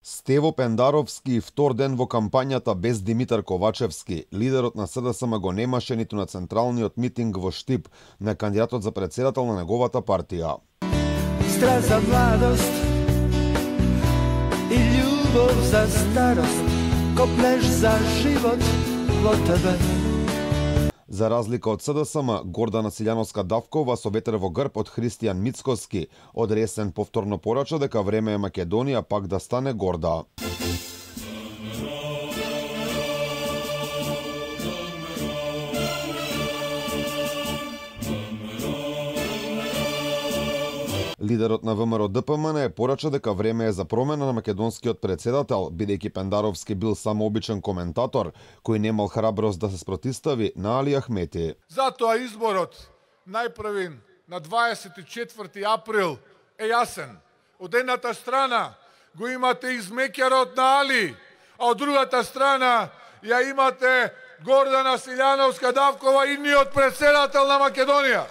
Стево Пендаровски и втор ден во кампањата без Димитар Ковачевски, лидерот на СДСМ го немаше ниту на централниот митинг во Штип на кандидатот за председател на неговата партија. Страст за младост и љубов за старост, коплеш за живот во тебе. За разлика од СДСМ, Гордана Силјановска-Давкова со ветер во грб од Христијан Мицкоски од Ресен повторно порача дека време е Македонија пак да стане горда. Лидерот на ВМРО-ДПМН порача дека време е за промена на македонскиот председател, бидејќи Пендаровски бил само обичен коментатор, кој немал храброст да се спротистави на Али Ахмети. Затоа изборот најпрвин на 24 април е јасен. Од едната страна го имате измекерот на Али, а од другата страна ја имате Гордана Силјановска-Давкова, идниот председател на Македонија.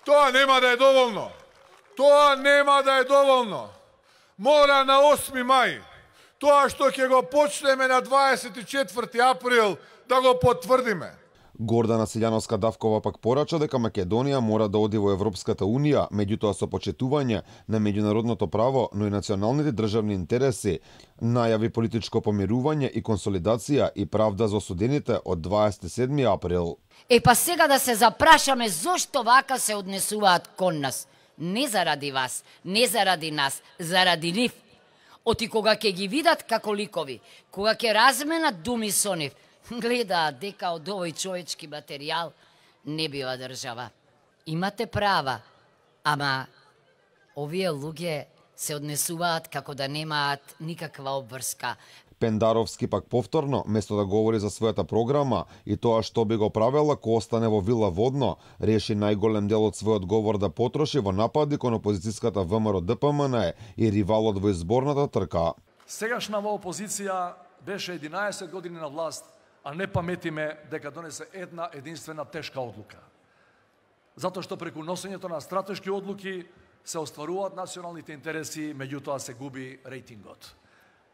Тоа нема да е доволно. Тоа нема да е доволно. Мора на 8 мај, тоа што ќе го почнеме на 24 април, да го потврдиме. Гордана Силјановска-Давкова пак порача дека Македонија мора да оди во Европската Унија, меѓутоа со почитување на меѓународното право, но и националните државни интереси, најави политичко помирување и консолидација и правда за осудените од 27 април. Па сега да се запрашаме зошто вака се однесуваат кон нас. Не заради вас, не заради нас, заради нив. Оти кога ќе ги видат како ликови, кога ќе разменат думи со нив, гледаат дека од овој човечки материјал не бива држава. Имате права, ама овие луѓе се однесуваат како да немаат никаква обврска. Пендаровски пак повторно, место да говори за својата програма и тоа што би го правела ко остане во Вила Водно, реши најголем дел од својот говор да потроши во напади кон опозицијската ВМРО-ДПМН и ривалот во изборната трка. Сегашнава опозиција беше 11 години на власт, а не паметиме дека донесе една единствена тешка одлука. Затоа што преку носењето на стратешки одлуки се остваруваат националните интереси, меѓутоа се губи рейтингот.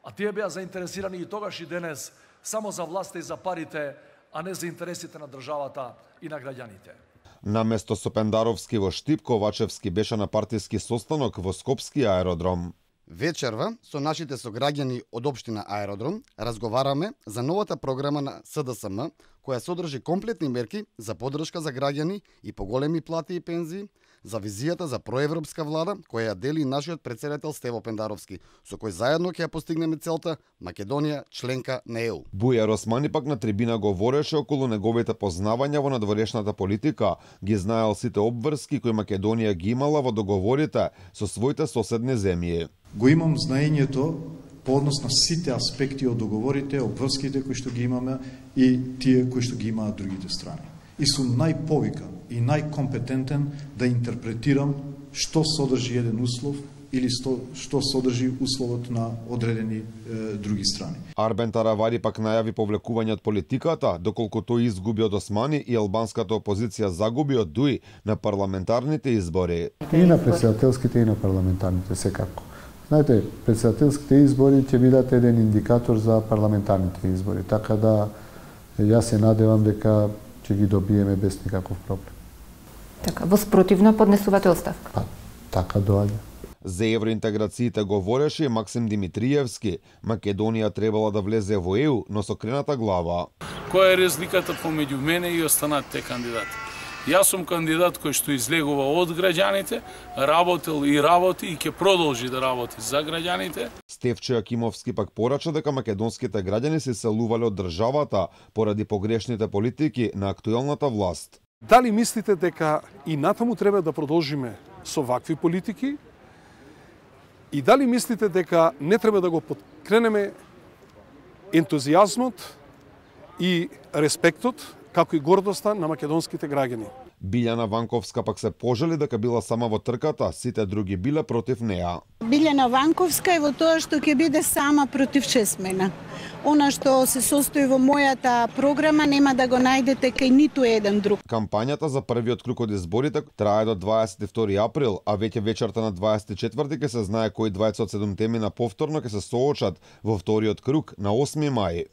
А тие беа заинтересирани и тогаш и денес само за власта и за парите, а не за интересите на државата и на граѓаните. Наместо со Пендаровски во Штип, Ковачевски беше на партиски состанок во Скопски аеродром. Вечерва со нашите сограѓани од општина Аеродром разговараме за новата програма на СДСМ, која содржи комплетни мерки за поддршка за граѓани и поголеми плати и пензии, за визијата за проевропска влада која ја дели нашиот председател Стево Пендаровски, со кој заедно ќе ја постигнеме целта Македонија членка на ЕУ. Бујар Османи пак на трибина говореше околу неговите познавања во надворешната политика, ги знаел сите обврски кои Македонија ги имала во договорите со своите соседни земји. Го имам знаењето по однос на сите аспекти од договорите, обврските кои што ги имаме и тие кои што ги имаат другите страни. И сум најповикан и најкомпетентен да интерпретирам што содржи еден услов или што содржи условот на одредени други страни. Арбен Таравари пак најави повлекување од политиката, доколку тој изгуби од Османи и албанската опозиција загуби од ДУИ на парламентарните избори. И на председателските и на парламентарните секако. Знаете, председателските избори ќе бидат еден индикатор за парламентарните избори, така да јас се надевам дека ќе ги добиеме без никаков проблем. Така, воспротивно поднесувате оставка? Така доаѓа. За евроинтеграциите говореше Максим Димитриевски. Македонија требала да влезе во ЕУ, но со крената глава. Која е разликата помеѓу мене и останатите кандидати? Јас сум кандидат кој што излегува од граѓаните, работел и работи и ќе продолжи да работи за граѓаните. Стефчо Јакимовски пак порача дека македонските граѓани се селувале од државата поради погрешните политики на актуелната власт. Дали мислите дека и натаму треба да продолжиме со вакви политики? И дали мислите дека не треба да го подкренеме ентузијазмот и респектот, како и гордоста на македонските граѓани? Билјана Ванковска пак се пожали дека била сама во трката, сите други биле против неа. Билјана Ванковска е во тоа што ќе биде сама против 6 мена. Она што се состои во мојата програма нема да го најдете кај ниту еден друг. Кампањата за првиот круг од изборите трае до 22 април, а веќе вечерта на 24 ќе се знае кои 27 теми на повторно ќе се соочат во вториот круг на 8 мај.